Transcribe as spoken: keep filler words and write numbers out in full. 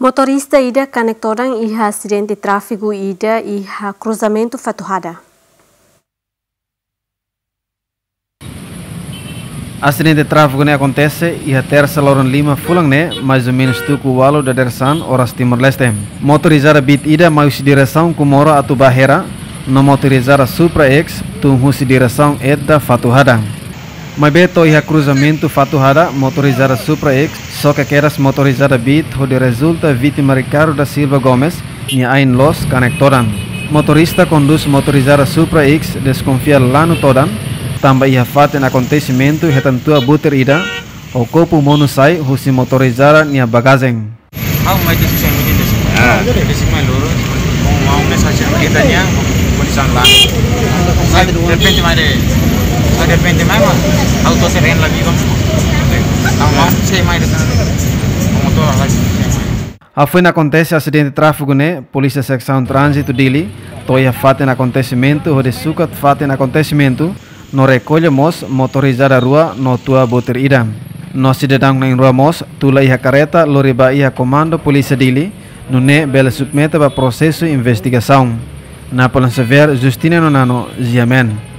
Motorista ida kanek todan iha asidente tráfiku ida iha kruzamentu Fatuhada. Asidente tráfiku ne'e akontese iha tersa loron lima fulan ne'e, mais ou menus tuku ualu dadeer-saan oras Timor-Leste. Motorizada Beat ida mai husi diresaun Comoro atu ba Hera, no motorizada Supra X tun husi diresaun Edda Fatuhada. Maibé to'o iha kruzamentu Fatuhada, motorizada Supra X xoke kedas motorizada Beat hodi rezulta vítima Ricardo da Silva Gomes nia ain loos kanek todan. Motorista kondús motorizada Supra X deskonfia lanu todan, tanba iha fatin akontesimentu hetan tua butir ida ho kopu monu sai husi motorizada nia bagajen. Ha'u mai desi sai mai desi. Ah. Desi mai loro. Mau mau ne sa cek kita nia kondisi la. Sai derrepente mai de. Sai derrepente mai ma. Ha'u to'o seren la viva. Ha'u mau sai mai de. Motor la. Hafoin akontese asidente tráfiku ne'e, Polísia Seksaun Tránzitu Dili to'o iha fatin akontesimentu hodi sukat fatin akontesimentu, no rekolla mós motorizada rua no tua butir ida. No sidadaun na'in rua mós tula iha kareta lori ba iha Komandu Polísia Dili, nune'e bele submete ba prosesu investigasaun. Napoleon Xavier, Justiniano Nano, G M N.